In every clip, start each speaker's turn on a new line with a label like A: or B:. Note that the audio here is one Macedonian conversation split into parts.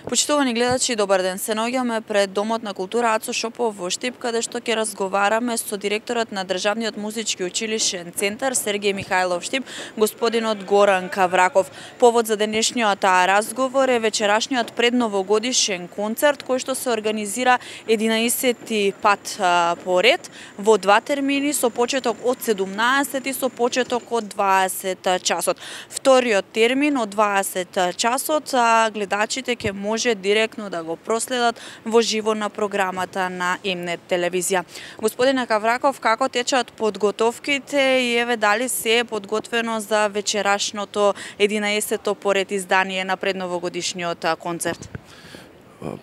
A: Почитувани гледачи, добар ден. Се наоѓаме пред Домот на култура Ацо Шопов во Штип, каде што ќе разговараме со директорот на Државниот музички училишен центар Сергеј Михајлов Штип, господинот Горан Кавраков. Повод за денешниот разговор е вечерашниот предновогодишен концерт кој што се организира 11-ти пат поред во два термини со почеток од 17 и со почеток од 20 часот. Вториот термин од 20 часот гледачите ќе може директно да го проследат во живо на програмата на МНЕТ телевизија. Господине Кавраков, како течат подготовките и еве дали се е подготвено за вечерашното 11-то поред издание на предновогодишниот концерт?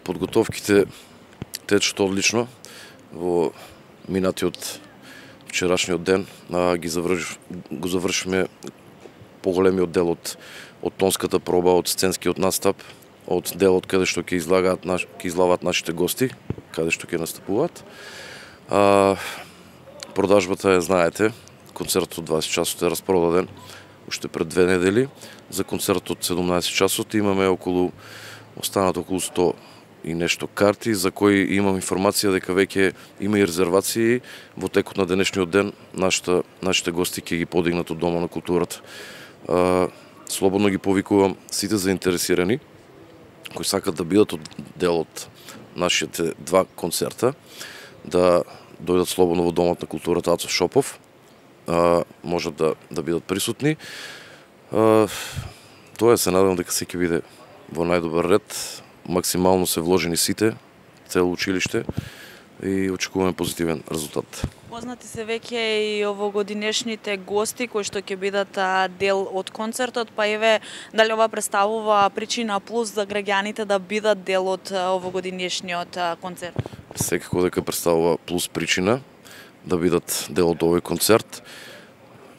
B: Подготовките течат одлично. Во минатиот вчерашниот ден го завршиме поголемиот дел од тонската проба, од сценскиот настап, од делот каде што ќе излаваат нашите гости, каде што ќе настапуваат. Продажбата знаете, концертот од 20 часот е распродаден уште пред 2 недели. За концертот од 17 часот имаме останат околу 100 и нешто карти, за кои имам информација дека веќе има и резервации. Во текот на денешниот ден нашите гости ќе ги подигнат од Дома на културата. Слободно ги повикувам сите заинтересирани кои сакат да бидат дел од нашите два концерта, да дојдат слободно во Домот на културата Ацо Шопов, можат да бидат присутни. Тоа се надевам дека се ќе биде во најдобар ред, максимално се вложени сите, цело училиште и очекуваме позитивен резултат.
A: Познати се веќе и овогодинешните гости кои што ќе бидат дел од концертот, па еве дали ова представува причина плюс за граѓаните да бидат дел од овогодинешниот концерт?
B: Секако дека представува плюс причина да бидат дел од овој концерт.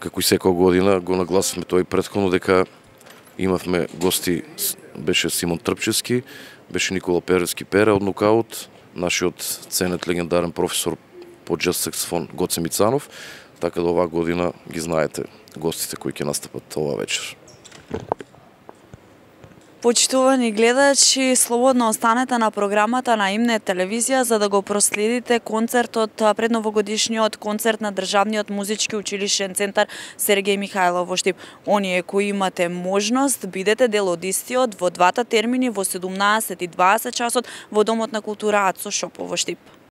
B: Како и секоја година го нагласивме тоа и претходно дека имавме гости, беше Симон Трпчевски, беше Никола Перевски Пере од Нокаут, нашиот ценет легендарен професор по джаз саксофон Гоце Мицанов, така да оваа година ги знаете гостите кои ќе настапат оваа вечер.
A: Почитувани гледачи, слободно останете на програмата на МНЕТ телевизија за да го проследите концертот, предновогодишниот концерт на Државниот музички училишен центар Сергеј Михајлов во Штип. Оние кои имате можност, бидете дел од истиот во двата термини во 17 и 20 часот во Домот на култура Ацо Шопов во Штип.